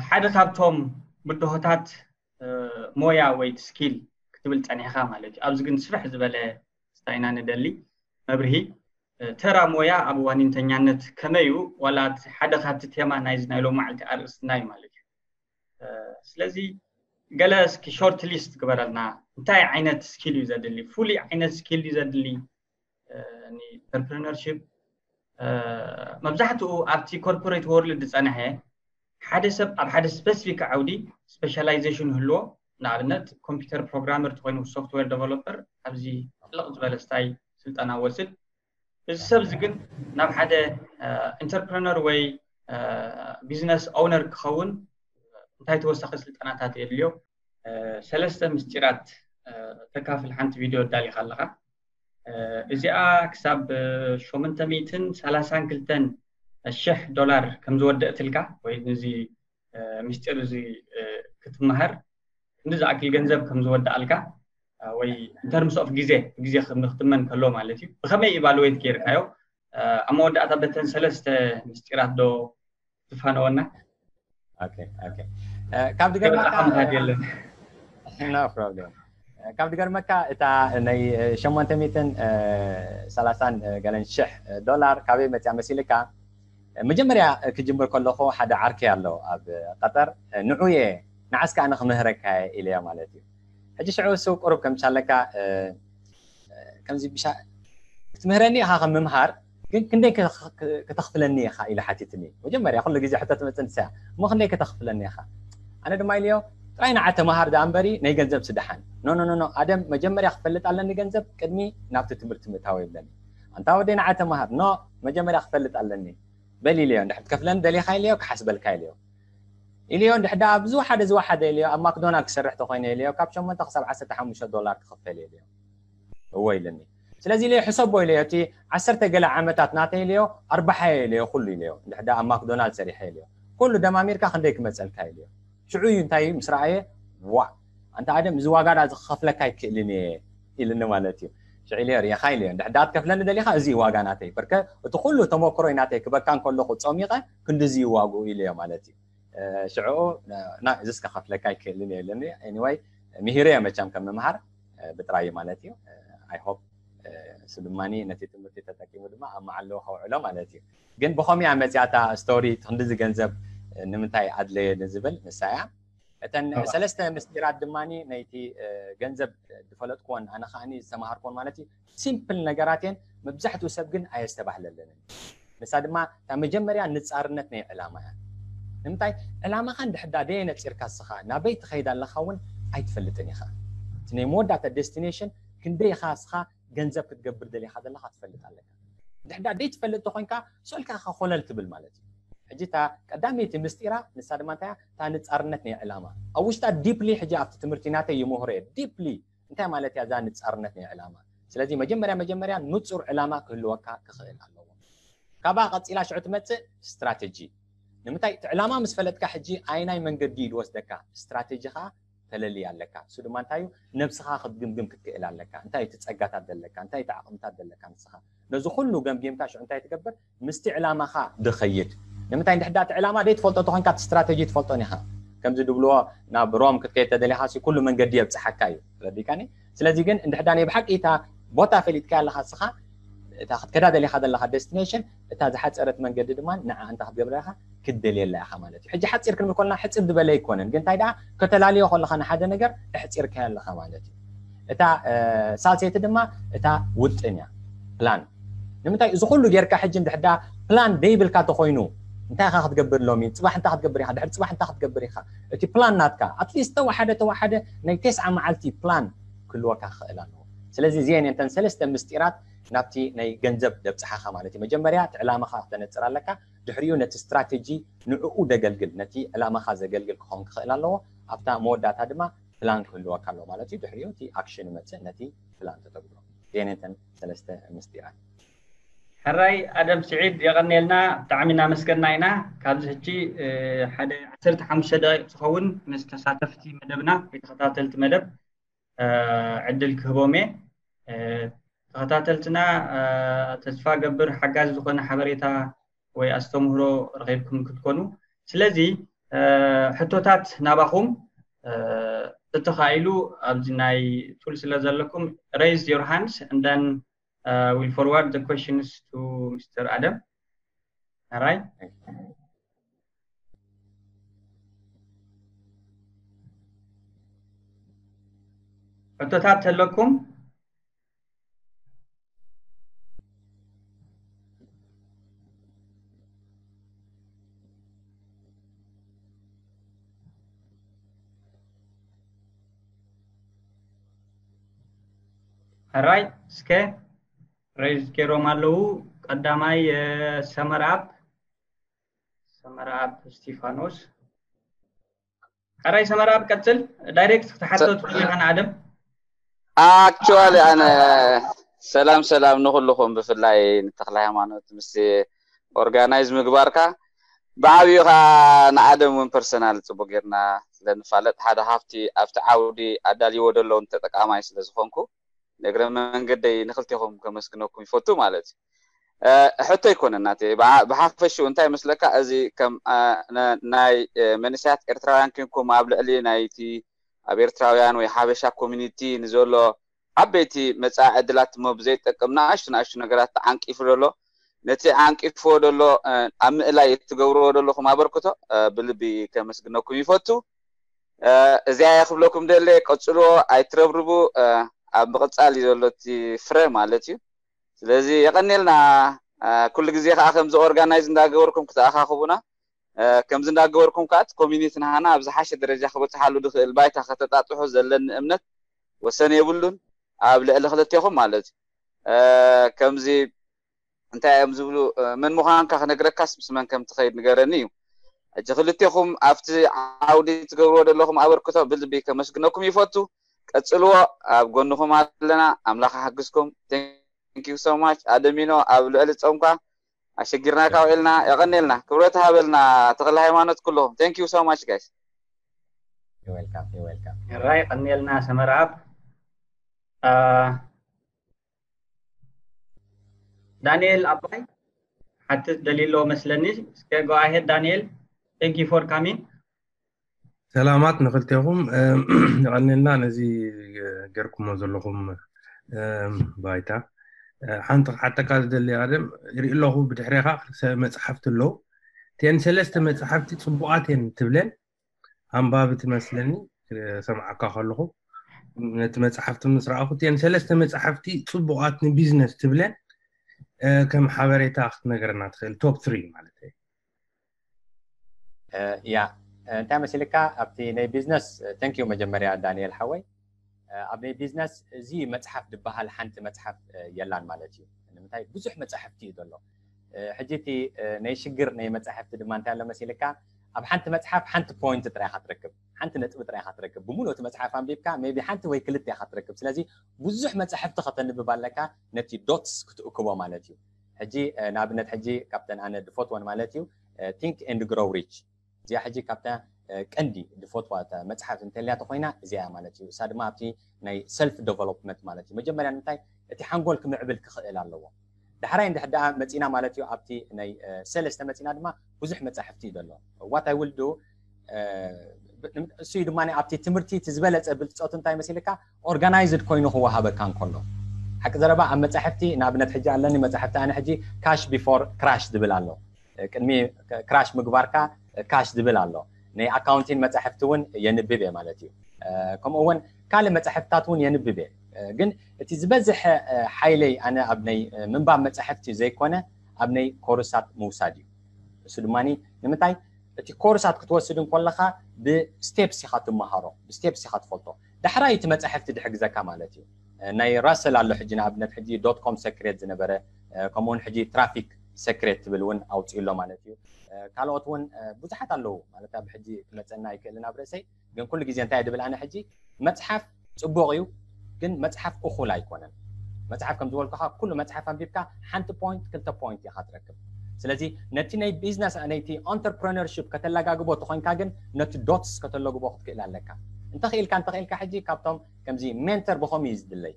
ሓደ ካብቶም ብድሆታት ሞያ ወይ ስኪል ክትብል ፀኒሕካ ማለት እዩ። ኣብዚ ግን ስፍሕ ዝበለ ስታይና ንደሊ መብርሂ ተራ ሞያ ኣብ ዋኒንተኛነት ከመይ እዩ? ዋላ ሓደ ካብቲ ቴማ ናይዚ ናይ ሎማዓልቲ ኣርእስትና እዩ ማለት እዩ። ስለዚ ገለ እስኪ ሾርት ሊስት ግበረልና። እንታይ ዓይነት ስኪል እዩ ዘድሊ? ፍሉይ ዓይነት ስኪል እዩ ዘድሊ? ኢንተርፕረነርሽፕ መብዛሕትኡ ኣብቲ ኮርፖሬት ወርልድ ዝፀንሐ ሓደ ሰብ ኣብ ሓደ ስፐሲፊክ ዓውዲ ስፔሻላይዜሽን ህልዎ፣ ንኣብነት ኮምፒውተር ፕሮግራመር ተኮይኑ ሶፍትዌር ዴቨሎፐር ኣብዚ ጥልቕ ዝበለ ስታይ ስልጠና ወስድ። እዚ ሰብ እዚ ግን ናብ ሓደ ኢንተርፕረነር ወይ ቢዝነስ ኦውነር ክኸውን እንታይ ተወሳኺ ስልጠናታት የድልዮ? ሰለስተ ምስጢራት ተካፍል ሓንቲ ቪድዮ ኣዳሊኻ ኣለኻ። እዚኣ ክሳብ ሸሞንተ ሚእትን ሰላሳን ክልተን ሽሕ ዶላር ከም ዝወደእትልካ ወይ ነዚ ምስጢር እዚ ክትመሃር ክንዲ ዝኣክል ገንዘብ ከም ዝወደኣልካ ወይ ኢንተርምስ ኦፍ ግዜ ግዜ ክትመን ከሎ ማለት እዩ። ብኸመይ ኢቫሉዌት ገይርካዮ? ኣብ መወዳእታ በተን ሰለስተ ምስጢራት ዶ ትፋነወና? ካብ ዝገርመካ የለን። ካብ ዝገርመካ እታ ናይ ሸሞንተ ሚእትን ሰላሳን ገለን ሽሕ ዶላር ካበይ መፅያ መሲልካ? መጀመርያ ክጅምር ከለኹ ሓደ ዓርከይ ኣሎ ኣብ ቀጠር፣ ንዑ እየ ንዓስካ ኣነ ክምህረካ እየ ኢለዮ ማለት እዩ። ሕጂ ሽዑ እሱ ቁሩብ ከምቻለካ ከምዚ ብሻ ክትምህረኒ ኢኻ ከም ምምሃር፣ ግን ክንደይ ከተኽፍለኒ ኢኻ ኢለ ሓቲትኒ። መጀመርያ ኩሉ ግዜ ሕቶ ትመፅእ ንሳ እያ። እሞ ክንደይ ከተኽፍለኒ ኢኻ? ኣነ ድማ ኢለዮ ጥራይ ንዓ ተምሃር ደኣ እምበሪ ናይ ገንዘብ ስደሓን። ኖ ኖ ኖ ኣደም መጀመርያ ክፈልጥ ኣለኒ ገንዘብ ቅድሚ ናብቲ ትምህርቲ ምእታው ይብለኒ። ኣንታ ወደይ ንዓ ተምሃር። ኖ መጀመርያ ክፈልጥ ኣለኒ። በል ኢለዮ። እንድሕር ትከፍለኒ ደሊኻ ኢለዮ፣ ክሓስበልካ ኢለዮ። ኢለዮ እንድሕር ደኣ ኣብ ዝወሓደ ዝወሓደ ኢለዮ፣ ኣብ ማክዶናልድ ክሰርሕ ተኮይነ ኢለዮ፣ ካብ ሸሞንተ ክሳብ ዓሰርተ ሓሙሽተ ዶላር ክኽፈል ኢለዮ። እወ ኢለኒ። ስለዚ ኢለዮ ሕሰቦ ኢለዮ፣ እቲ ዓሰርተ ገለ ዓመታት ናተይ ኢለዮ፣ ኣርባሓ ኢለዮ ኩሉ ኢለዮ። እንድሕር ደኣ ኣብ ማክዶናልድ ሰሪሐ ኢለዮ፣ ኩሉ ደማሚርካ ክንደይ ክመፀልካ ኢለዮ። ሽዑ እዩ እንታይ ምስ ረኣየ፣ ዋ ኣንታ ኣደም እዚ ዋጋ ደኣ ክኸፍለካ ኣይክእልን እየ ኢልኒ ማለት እዩ። ሽዑ ኢለዮ ርኢኻ ኢለዮ፣ እንድሕር ደኣ ትከፍለኒ ደሊኻ እዚ እዩ ዋጋ ናተይ። በርከ እቲ ኩሉ ተመክሮይ ናተይ ክበካ እንከለኹ ፀሚቐ ክንድዚ እዩ ዋግኡ ኢለዮ ማለት እዩ። ሽዑ እዚስ ከኸፍለካ ኣይክእልን እየ ኢልኒ። ኤኒወይ ምሂረዮ መቸም ከም ምምሃር ብጥራይ ማለት እዩ። ኣይ ሆፕ እሱ ድማ ነቲ ትምህርቲ ተጠቂሙ ድማ ኣብ መዓልኡ ከውዕሎ ማለት እዩ። ግን ብኸምኡ እያ መፅያ እታ ስቶሪ፣ ክንድዚ ገንዘብ ንምንታይ ኣድለየ ንዝብል ንሳ እያ። እተን ሰለስተ ምስጢራት ድማ ናይቲ ገንዘብ ዝፈለጥኩዎን ኣነ ከዓኒ ዝተምሃርኩዎን ማለት እዩ። ሲምፕል ነገራት እየን፣ መብዛሕትኡ ሰብ ግን ኣየስተባህለለንን። ንሳ ድማ እታ መጀመርያ ንፃርነት ናይ ዕላማ እያ። ንምንታይ ዕላማኻ እንድሕዳ ደየነፂርካ እስኻ ናበይ ትኸይድ ኣለኻ እውን ኣይትፈልጥን ኢኻ። እቲ ናይ መወዳእታ ዴስቲኔሽን ክንደይ ኢኻ እስኻ ገንዘብ ክትገብር ደሊኻ ዘለኻ ትፈልጥ ኣለካ። እንድሕዳ ደይ ትፈልጥ ተኮይንካ ስእልካ ኢኻ ኮለል ትብል ማለት እዩ። ሕጂ እታ ቀዳመይቲ ምስጢራ ንሳ ድማ እንታይ እያ? እታ ንፃርነት ናይ ዕላማ ኣብ ውሽጣ ዲፕሊ ሕጂ ኣብቲ ትምህርቲ ናተይ ይምህሮ እየ። ዲፕሊ እንታይ ማለት እያ እዛ ንፃርነት ናይ ዕላማ? ስለዚ መጀመርያ መጀመርያ ንፁር ዕላማ ክህልወካ ክኽእል ኣለዎ። ካብኣ ቀፂላ ሽዑ ትመፅእ ስትራተጂ። ንምንታይ እቲ ዕላማ ምስ ፈለጥካ ሕጂ ኣይናይ መንገዲ እዩ ዝወስደካ፣ ስትራተጂ ከዓ ተለልይ ኣለካ። እሱ ድማ እንታይ እዩ? ነብስኻ ክትግምግም ክትክእል ኣለካ። እንታይ እቲ ፀጋታት ዘለካ፣ እንታይ እቲ ዓቕምታት ዘለካ ንስኻ። ነዚ ኩሉ ገምጊምካ ሽዑ እንታይ ትገብር? ምስቲ ዕላማኻ ድኸይድ። ንምንታይ እንድሕዳ እቲ ዕላማ ደይ ትፈልጦ ተኾንካ እቲ ስትራተጂ ትፈልጦን ኢኻ። ከምዚ ድብልዎ ናብ ሮም ክትከይድ ተደሊኻ ሲ ኩሉ መንገዲ የብፅሓካ እዩ። ረዲካኒ? ስለዚ ግን እንድሕዳ ናይ ብሓቂ እታ ቦታ ፈሊጥካ ኣለኻ እስኻ እታ ክትከዳ ደሊኻ ዘለኻ ዴስቲኔሽን እታ ዝሓፀረት መንገዲ ድማ ንዓ እንታይ ክትገብር ኢኻ? ክትደልየላ ኢኻ ማለት እዩ። ሕጂ ሓፂር ክንብል ከለና ሕፅር ዝበለ ኣይኮነን፣ ግን እንታይ ደኣ ከተላልዮ ከለኻ ንሓደ ነገር ኣሕፂርካዮ ኣለኻ ማለት እዩ። እታ ሳልሰይቲ ድማ እታ ውጥን እያ፣ ፕላን። ንምንታይ እዚ ኩሉ ጌርካ ሕጂ እንድሕዳ ፕላን ደይብልካ ተኾይኑ እንታይ ኢኻ ክትገብር ሎሚ፣ ፅባሕ እንታይ ክትገብር ኢኻ፣ ድሕሪ ፅባሕ እንታይ ክትገብር ኢኻ፣ እቲ ፕላን ናትካ ኣትሊስት ተወሓደ ተወሓደ ናይ ተስዓ መዓልቲ ፕላን ክህልወካ ክኽእል ኣለዎ። ስለዚ እዚአን እተን ሰለስተ ምስጢራት ናብቲ ናይ ገንዘብ ደብፅሓኻ ማለት እዩ። መጀመርያ እቲ ዕላማኻ ክተነፅር ኣለካ። ድሕሪኡ ነቲ ስትራተጂ ንዕኡ ደገልግል፣ ነቲ ዕላማኻ ዘገልግል ክኸውን ክኽእል ኣለዎ። ኣብታ መወዳእታ ድማ ፕላን ክህልወካ ኣለዎ ማለት እዩ። ድሕሪኡ እቲ ኣክሽን ይመፅእ፣ ነቲ ፕላን ተተግብሮ። እዚአን እተን ሰለስተ ምስጢራት። ሕራይ ኣደም ስዒድ የቐንየልና፣ ብጣዕሚ እናመስገና ኢና። ካብዚ ሕጂ ሓደ ዓሰርተ ሓሙሽተ ደቂቕ ዝኸውን ምስ ተሳተፍቲ መደብና ወይ ተኸታተልቲ መደብ ዕድል ክህቦም እየ። ተኸታተልትና ተስፋ ገብር ሓጋዚ ዝኾነ ሓበሬታ ወይ ኣስተምህሮ ረኺብኩም ክትኮኑ። ስለዚ ሕቶታት ናባኹም። እተኻኢሉ ኣብዚ ናይ ቱል ስለ ዘለኩም raise your hands and then we'll forward the questions to Mr. Adam. All right. ሕቶታት ተለኩም? ሕራይ እስከ raise ገይሮም ኣለዉ። ቀዳማይ ሰመርኣብ ሰመርኣብ እስቲፋኖስ። ሕራይ ሰመርኣብ ቀጽል። ዳይሬክት ክትሓቶ ትኽእል ኢኻ ንኣደም። ኣክቹዋሊ ኣነ ሰላም ሰላም ንኩልኹም፣ ብፍላይ ንተክለ ሃይማኖት ምስ ኦርጋናይዝ ምግባርካ፣ ብዓብዩ ከዓ ንኣደም እውን ፐርሰናል ጽቡቅ ጌርና ስለንፋለጥ ሓደ ካብቲ ኣብቲ ዓውዲ ኣዳልይዎ ዘለውን ተጠቃማይ ስለዝኾንኩ ንእግረ መንገደይ ንክልቴኹም ከመስግነኩም ይፈቱ ማለት እዩ። ሕቶ ይኮነ እናተ ብሓፈሽኡ እንታይ ይመስለካ፣ እዚ ከም ናይ መንእሰያት ኤርትራውያን ኮንኩም ኣብ ልዕሊ ናይቲ ኣብ ኤርትራውያን ወይ ሓበሻ ኮሚኒቲ ንዘሎ ዓበይቲ መጻኢ ዕድላት እሞ ብዘይጠቅም ንኣሽቱ ንኣሽቱ ነገራት ተዓንቂፉ ዘሎ፣ ነቲ ዓንቂፍዎ ዘሎ ኣብ ምእላይ እትገብርዎ ዘለኹም ኣበርክቶ ብልቢ ከመስግነኩም ይፈቱ። እዚኣ እየ ክብለኩም ደለ። ቀጽልዎ፣ ኣይትረብርቡ። ኣብ ምቕጻል እዩ ዘሎ እቲ ፍረ ማለት እዩ። ስለዚ የቐኔልና። ኩሉ ግዜ ከዓ ከምዚ ኦርጋናይዝ እንዳገበርኩም ክትኣኻኽቡና፣ ከምዚ እንዳገበርኩም ከዓ እቲ ኮሚኒቲ ናሃና ኣብ ዝሓሸ ደረጃ ክበፅሓሉ ዝኽእል ባይታ ከተጣጥሑ ዘለኒ እምነት ወሰን የብሉን። ኣብ ልዕሊ ክልቴኹም ማለት እዩ። ከምዚ እንታይ እዮም ዝብሉ፣ መን ምዃንካ ክነግረካስ ምስ መን ከም ትኸይድ ንገረኒ እዩ። ሕጂ ክልቴኹም ኣብቲ ዓውዲ ትገብርዎ ዘለኹም ኣበርክቶ ብልቢ ከመስግነኩም ይፈቱ። ቀጽልዎ፣ ኣብ ጎንኹም ኣለና። ኣምላኽ ይሓግዝኩም። Thank you so much ኣደሚኖ። ኣብ ልዕሊ ጾምካ ኣሸጊርናካ ውዒልና። የቐኔልና፣ ክብረት ሃበልና ተኽለ ሃይማኖት ኩልኹም። Thank you so much guys። You're welcome, you're welcome። ሕራይ ቀኔልና ሰመርኣብ። ዳንኤል ኣባይ ሓትት ደሊሎ መስለኒ። እስከ go ahead ዳንኤል። Thank you for coming። ሰላማት ንክልቴኹም። የቐኔልና ነዚ ገርኩሞ ዘለኹም ባይታ። ሓንቲ ክሓተካ ዝደሊ ኣደም፣ ይርኢ ኣለኹ ብድሕሬኻ ክልተ መፅሓፍቲ ኣለዉ። እተን ሰለስተ መፅሓፍቲ ፅቡቓት እየን ትብለን፣ ኣንባቢ ትመስለኒ ሰምዓካ ከለኹ። ነቲ መፅሓፍቲ ምስ ረኣኹ፣ እተን ሰለስተ መፅሓፍቲ ፅቡቓት ንቢዝነስ ትብለን ከም ሓበሬታ ክትነግረና ትኽእል? ቶፕ ትሪ ማለት እዩ። ያ እንታይ መሲልካ ኣብቲ ናይ ቢዝነስ? Thank you መጀመርያ ዳንኤል ሓወይ። ኣብ ናይ ቢዝነስ እዚ መፅሓፍ ዝበሃል ሓንቲ መፅሓፍ የላን ማለት እዩ። ንምንታይ? ብዙሕ መፃሕፍቲ እዩ ዘሎ። ሕጂ እቲ ናይ ሽግር ናይ መፃሕፍቲ ድማ እንታይ ኣሎ መሲልካ፣ ኣብ ሓንቲ መፅሓፍ ሓንቲ ፖይንት ጥራይ ኢኻ ትረክብ፣ ሓንቲ ነጥቢ ጥራይ ኢኻ ትረክብ። ብምሉእ እቲ መፅሓፍ ኣንቢብካ ሜቢ ሓንቲ ወይ ክልተ ኢኻ ትረክብ። ስለዚ ብዙሕ መፃሕፍቲ ከተንብብ ኣለካ ነቲ ዶትስ ክትእክቦ ማለት እዩ። ሕጂ ንኣብነት ሕጂ ካብተን ኣነ ድፈትወን ማለት እዩ፣ Think and Grow Rich። እዚኣ ሕጂ ካብታ ቀንዲ ድፈትዋ መፅሓፍ እንተልያ ተኮይና እዚኣ ማለት እዩ። እሳ ድማ ኣብቲ ናይ ሰልፍ ዴቨሎፕመንት ማለት እዩ። መጀመርያ ንምንታይ እቲ ሓንጎል ክምዕብል ክኽእል ኣለዎ። ዳሕራይ እንድሕር ደኣ መፂና ማለት እዩ ኣብቲ ናይ ሰለስተ መፂና ድማ ብዙሕ መፃሕፍቲ እዩ ዘሎ። What I will do እሱ እዩ ድማ ኣብቲ ትምህርቲ እቲ ዝበለፀ ብልፀቱ እንታይ መሲልካ ኦርጋናይዝድ ኮይኑ ክወሃበካ እንከሎ። ሓቂ ዘረባ ኣብ መፃሕፍቲ ንኣብነት ሕጂ ኣለኒ መፃሕፍቲ ኣነ ሕጂ ካሽ ቢፎር ክራሽ ዝብል ኣሎ። ቅድሚ ክራሽ ምግባርካ ካሽ ዝብል ኣሎ። ናይ ኣካውንቲን መፃሕፍቲ እውን የንብብ እየ ማለት እዩ። ከምኡ እውን ካልእ መፃሕፍትታት እውን የንብብ እየ። ግን እቲ ዝበዝሐ ሓይለይ ኣነ ኣብ ናይ ምንባብ መፃሕፍቲ ዘይኮነ ኣብ ናይ ኮርሳት ምውሳድ እዩ። እሱ ድማ ንምንታይ እቲ ኮርሳት ክትወስድ እንከለካ ብስቴፕስ ኢካ ትመሃሮ፣ ብስቴፕስ ኢካ ትፈልጦ። ዳሕራይ እቲ መፃሕፍቲ ድሕግዘካ ማለት እዩ። ናይ ራሰል ኣሎ ሕጂ ንኣብነት ሕጂ ዶት ኮም ሰክሬት ዝነበረ ከምኡውን ሕጂ ትራፊክ ሰክሬት ትብል እውን ኣውፅኡ ኣሎ ማለት እዩ። ካልኦት እውን ብዙሓት ኣለዉ ማለት ኣብ ሕጂ ክመፀና ኣይክእልን ኣብ ርእሰይ። ግን ኩሉ ግዜ እንታይ ድብል ኣነ ሕጂ መፅሓፍ ፅቡቅ እዩ፣ ግን መፅሓፍ እኩል ኣይኮነን። መፅሓፍ ከም ዝበልኩካ ኩሉ መፅሓፍ ኣንቢብካ ሓንቲ ፖይንት ክልተ ፖይንት ኢካ ትረክብ። ስለዚ ነቲ ናይ ቢዝነስ ነቲ entrepreneurship ከተለጋግቦ ተኮይንካ ግን ነቲ ዶትስ ከተለግቦ ክትክእል ኣለካ። እንተኽኢልካ እንተኽኢልካ ሕጂ ካብቶም ከምዚ ሜንተር ብኸም እዩ ዝድለይ።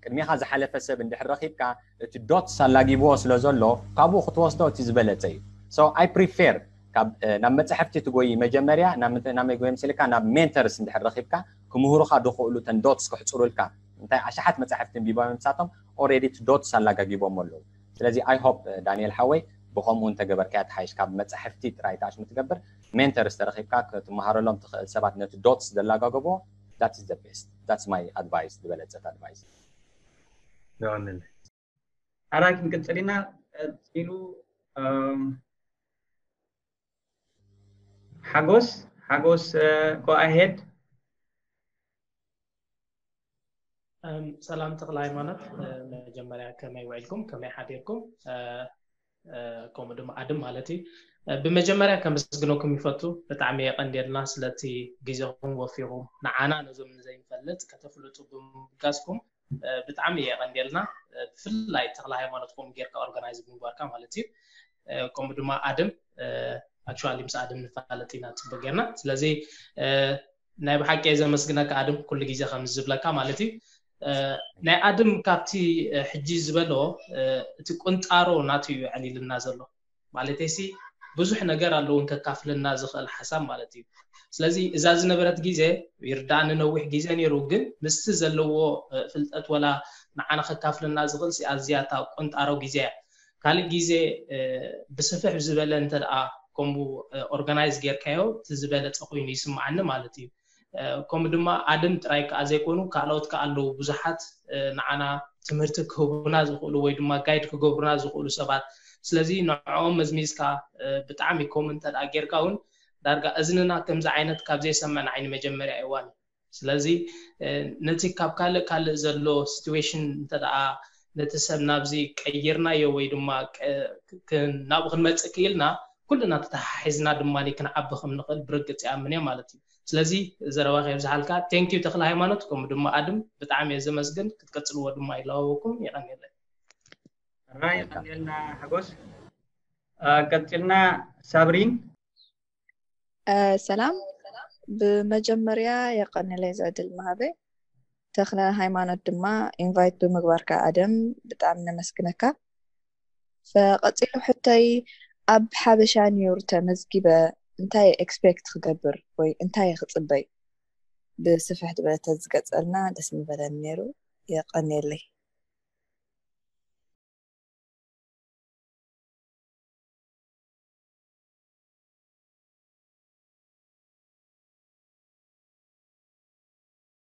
ቅድሚኻ ዝሓለፈ ሰብ እንድሕር ረኺብካ እቲ ዶትስ ኣላጊብዎ ስለ ዘሎ ካብኡ ክትወስዶ እቲ ዝበለፀ እዩ። So I prefer ካብ ናብ መፅሕፍቲ ትጎይ መጀመርያ ናብ መጎይ ምስልካ ናብ mentors እንድሕር ረኪብካ ክምህሩካ ዝኽእሉ ተን dots ክሕፅሩልካ እንታይ ኣሽሓት መፅሕፍቲ እንቢቦም ንሳቶም already dots ኣላጋጊቦም ኣለዉ። ስለዚ I hope ዳንኤል ሓወይ ብከምኡ እንተገበርካያ ትሓይሽ። ካብ መፅሕፍቲ ጥራይ ትኣሽ ምትገብር mentors ተረኪብካ ክትመሃረሎም ትኽእል ሰባት ነቲ dots ዘላጋገቦ that is the best. That's my advice ዝበለፀት advice። ኣራይ ክንቅፅል ኢና። ቀፂሉ ሓጎስ ሓጎስ go ahead። ሰላም ተክለ ሃይማኖት፣ መጀመርያ ከመይ ውዒልኩም ከመይ ሓዲርኩም? ከምኡ ድማ ኣድም ማለት እዩ። ብመጀመርያ ከመስግነኩም ይፈቱ። ብጣዕሚ የቀንየልና ስለቲ ግዜኹም ወፊኹም ንዓና ነዞም ንዘይንፈልጥ ከተፍልጡ ብምብጋስኩም ብጣዕሚ የቀንየልና። ብፍላይ ተክለ ሃይማኖትኩም ጌርካ organize ብምግባርካ ማለት እዩ። ከምኡ ድማ ኣድም actually ምስ ኣድም ንፋለጥ ኢና ፅቡቅ ጌርና። ስለዚ ናይ ብሓቂ እየ ዘመስግነካ ኣድም፣ ኩሉ ግዜ ከም ዝብለካ ማለት እዩ። ናይ ኣድም ካብቲ ሕጂ ዝበሎ እቲ ቁንጣሮ ናቱ እዩ ዕሊልና ዘሎ። ማለተይሲ ብዙሕ ነገር ኣለውን ከካፍልና ዝኽእል ሓሳብ ማለት እዩ። ስለዚ እዛ ዝነበረት ግዜ ይርዳእኒ ነዊሕ ግዜ ነይሩ፣ ግን ምስቲ ዘለዎ ፍልጠት ወላ ንዓና ከካፍልና ዝኽእል ኣዝያታ ቁንጣሮ ግዜ እያ። ካልእ ግዜ ብስፍሕ ዝበለ እንተ ደኣ ከምኡ organize ጌርካዮ እቲ ዝበለፀ ኮይኑ ይስምዓኒ ማለት እዩ። ከምኡ ድማ ኣድም ጥራይ ከዓ ዘይኮኑ ካልኦት ከዓ ኣለዉ ብዙሓት ንዓና ትምህርቲ ክህቡና ዝኽእሉ ወይ ድማ guide ክገብሩና ዝኽእሉ ሰባት። ስለዚ ንዕኦም መዝሚዝካ ብጣዕሚ ከምኡ እንተ ደኣ ጌርካ እውን ዳርጋ እዝንና ከምዚ ዓይነት ካብ ዘይሰምዕ ንዓይ ንመጀመርያ እዋን እዩ። ስለዚ ነቲ ካብ ካልእ ካልእ ዘሎ situation እንተ ደኣ ነቲ ሰብ ናብዚ ቀይርናዮ ወይ ድማ ናብኡ ክንመፅእ ክኢልና ኩልና ተተሓሒዝና ድማ ክንዓቢ ከም ንኽእል ብርግፅ ይኣምን እየ ማለት እዩ። ስለዚ ዘረባ ከየብዝሓልካ thank you ተክለ ሃይማኖት ከምኡ ድማ ኣድም ብጣዕሚ እየ ዘመስግን። ክትቀፅልዎ ድማ ይለዋወኩም። የቀንየለይ። ራይ የቀንየልና ሓጎስ። ቀፂልና ሳብሪን። ሰላም፣ ብመጀመርያ የቀንየለይ እዚ ዕድል ምሃበይ። ተክለ ሃይማኖት ድማ invite ብምግባርካ ኣድም ብጣዕሚ ነመስግነካ። ፈቀፂሉ ሕቶይ ኣብ ሓበሻ ኒውር ተመዝጊበ እንታይ expect ክገብር ወይ እንታይ ክፅበይ ብስፍሕ ዝበለ ተዝገፀልና ደስ ምበለኒ ነይሩ። የቀንየለይ።